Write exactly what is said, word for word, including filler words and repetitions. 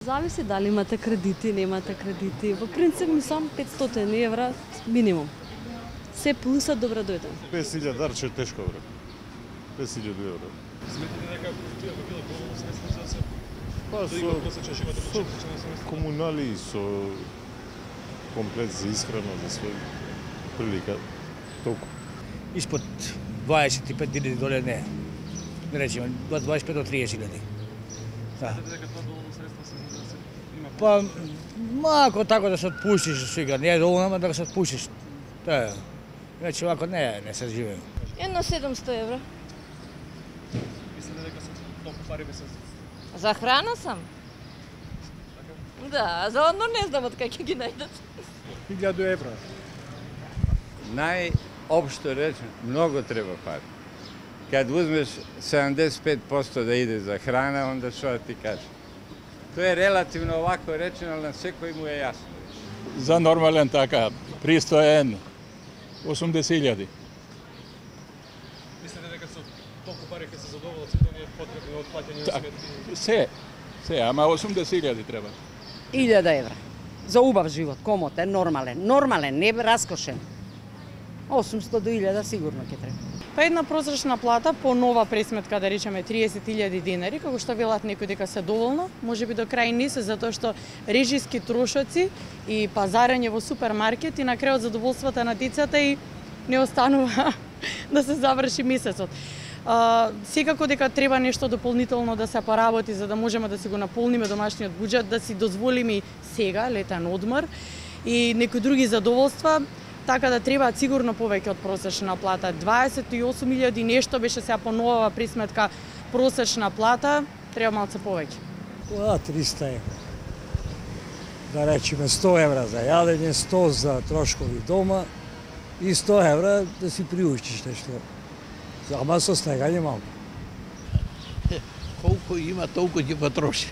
Зависи дали имате кредити, немате кредити. Во принцип мислам петстотини евра минимум. Се плюса добро дојде. песет илјади дарче е тешко, бре. песет илјади евра. Сметате дека тоа би било доволно средство за да се Па да има просечен живот од со почетници? комунали, со комплет за исхрана, за свој прилика, толку. Испод дваесет и пет илјади долари не. Не речеме, дваесет и пет до триесет илјади. Да. Сметате дека тоа доволно средство се за да се има Па, малко тако да се отпуштиш сега, не е доволно, ама да се отпуштиш. Тоа е. Иначе овако не, не се живее. Едно седумсто евра. Мислите дека се толку пари би се За храна сам. Да, за одно не знам од кај ќе ги најдат. илјаду евра. Најопшто речено, многу треба пари. Кад узмеш седумдесет и пет проценти да иде за храна, онда што да ти кажа? Тоа е релативно овако речено, на секој му е јасно. За нормален така, пристоен, осумдесет илјади. Мислите дека со толку пари ќе се задоволат сите оние потребни од плаќање на сметки? Се, се, ама осумдесет илјади треба. илјада евра. За убав живот, комотен, нормален. Нормален, не раскошен. осумсто до илјада сигурно ќе треба. Па една просечна плата по нова пресметка, да речеме триесет илјади динари, како што велат некои дека се доволно, можеби до крај не се, затоа што режиски трошоци и пазарење во супермаркет и на крајот задоволствата на децата и не останува да се заврши месецот. Uh, секако дека треба нешто дополнително да се поработи за да можеме да си го наполниме домашниот буџет, да си дозволиме сега летен одмор и некои други задоволства, така да треба сигурно повеќе од просечна плата. дваесет и осум илјади нешто беше сега по нова присметка просечна плата, треба малце повеќе. Тоа триста евра. Да речеме сто евра за јадење, сто за трошкови дома и сто евра да си приуштиш нешто. Ама со снегање малку. Колку има, толку ќе потроши.